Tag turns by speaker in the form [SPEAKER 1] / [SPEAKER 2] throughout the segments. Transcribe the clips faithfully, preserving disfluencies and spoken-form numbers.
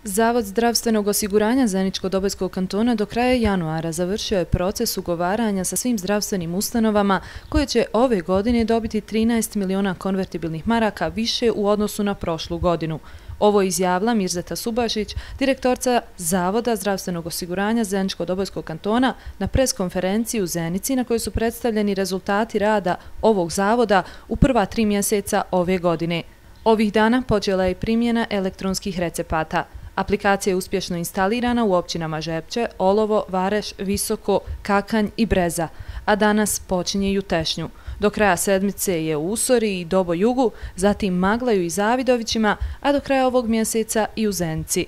[SPEAKER 1] Zavod zdravstvenog osiguranja Zeničko-Dobojskog kantona do kraja januara završio je proces ugovaranja sa svim zdravstvenim ustanovama koje će ove godine dobiti trinaest miliona konvertibilnih maraka više u odnosu na prošlu godinu. Ovo je izjavila Mirzeta Subašić, direktorca Zavoda zdravstvenog osiguranja Zeničko-Dobojskog kantona na preskonferenciji u Zenici na kojoj su predstavljeni rezultati rada ovog zavoda u prva tri mjeseca ove godine. Ovih dana počela je primjena elektronskih recepata. Aplikacija je uspješno instalirana u općinama Žepče, Olovo, Vareš, Visoko, Kakanj i Breza, a danas počinje i u Tešnju. Do kraja sedmice je u Usori i Dobojugu, zatim Maglaju i Zavidovićima, a do kraja ovog mjeseca i u Zenici.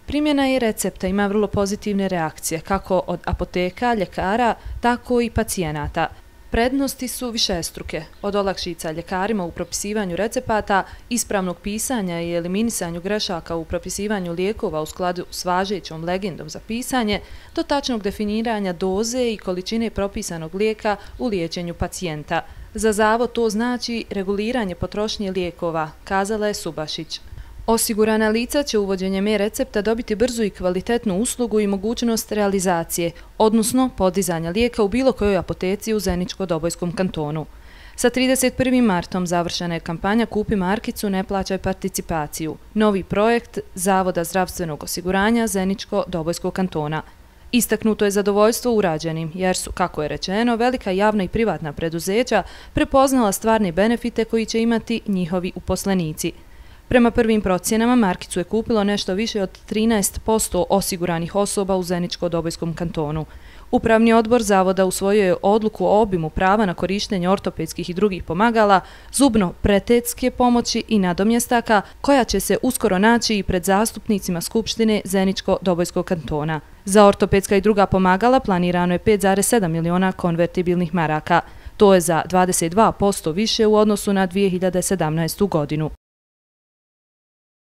[SPEAKER 1] Primjena je recepta ima vrlo pozitivne reakcije, kako od apoteka, ljekara, tako i pacijenata. Prednosti su višestruke, od olakšica ljekarima u propisivanju recepata, ispravnog pisanja i eliminisanju grešaka u propisivanju lijekova u skladu s važećom legendom za pisanje, do tačnog definiranja doze i količine propisanog lijeka u liječenju pacijenta. Za zavod to znači reguliranje potrošnje lijekova, kazala je Subašić. Osigurana lica će uvođenjem e-recepta dobiti brzu i kvalitetnu uslugu i mogućnost realizacije, odnosno podizanja lijeka u bilo kojoj apoteci u Zeničko-Dobojskom kantonu. Sa trideset prvim martom završena je kampanja Kupi markicu, ne plaćaj participaciju, novi projekt Zavoda zdravstvenog osiguranja Zeničko-Dobojskog kantona. Istaknuto je zadovoljstvo urađenim, jer su, kako je rečeno, velika javna i privatna preduzeća prepoznala stvarne benefite koji će imati njihovi uposlenici. Prema prvim procjenama, markicu je kupilo nešto više od trinaest posto osiguranih osoba u Zeničko-Dobojskom kantonu. Upravni odbor zavoda usvojio je odluku o obimu prava na korištenje ortopedskih i drugih pomagala, zubno-pretetske pomoći i nadomjestaka, koja će se uskoro naći i pred zastupnicima Skupštine Zeničko-Dobojskog kantona. Za ortopedska i druga pomagala planirano je pet zarez sedam miliona konvertibilnih maraka. To je za dvadeset dva posto više u odnosu na dvije hiljade sedamnaestu godinu.